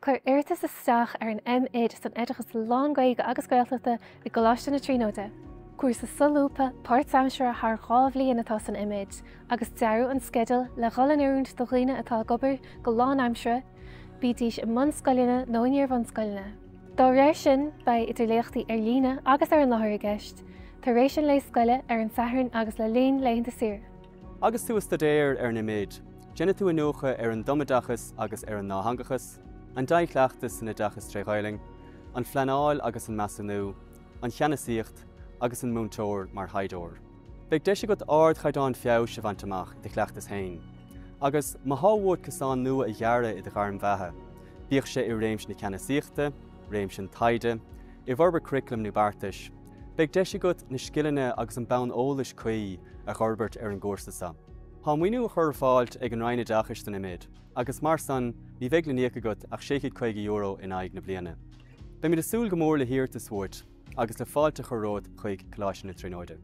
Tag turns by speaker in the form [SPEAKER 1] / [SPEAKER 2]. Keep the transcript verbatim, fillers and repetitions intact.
[SPEAKER 1] Cuir iarratas isteach ar an M.Ed san Oideachas Lán-Ghaeilge agus Gaeltachta i gColáiste na Tríonóide. Cúrsa solúbtha páirtaimseartha thar dhá bhliain atá san M.Ed, agus dearadh an sceideal le dhul in oiriúint do dhaoine atá ag obair go lánaimseartha, bídís i mbunscoileanna nó in iar-bhunscoileanna. Dá réir sin, beidh idir léachtaí ar líne agus ar an láthair i gceist, tar éis an lae scoile ar an Satharn agus le linn laethanta saoire.
[SPEAKER 2] Agus tú ag staidéar ar an M.Ed, déanfaidh tú iniúchadh ar an tumoideachas agus ar an dátheangachas, an dea-chleachtas san oideachas trí Ghaeilge, an phleanáil agus an measúnú, an cheannasaíocht agus an múinteoir mar thaighdeoir. Beidh deis agat ardchaighdeán feabhais a bhaint amach i do chleachtas féin. Agus má tá uait cosán nua a ghearradh i do ghairm bheatha, bíodh sé i réimse na ceannasaíochta, réimse an taighde, i bhforbairt curaclaim nó beartais, beidh deis agat na scileanna agus an bonn eolais cuí a fhorbairt ar an gcúrsa seo. Tá maoiniú á chur ar fáil ag an Roinn Oideachais don M.Ed, agus mar san ní bheidh le n-íoc agat ach sé chéad caoga euro in aghaidh na bliana. Beimid ag súil go mór le hiarratas uait agus le fáilte a chur romhat chuig Coláiste na Tríonóide.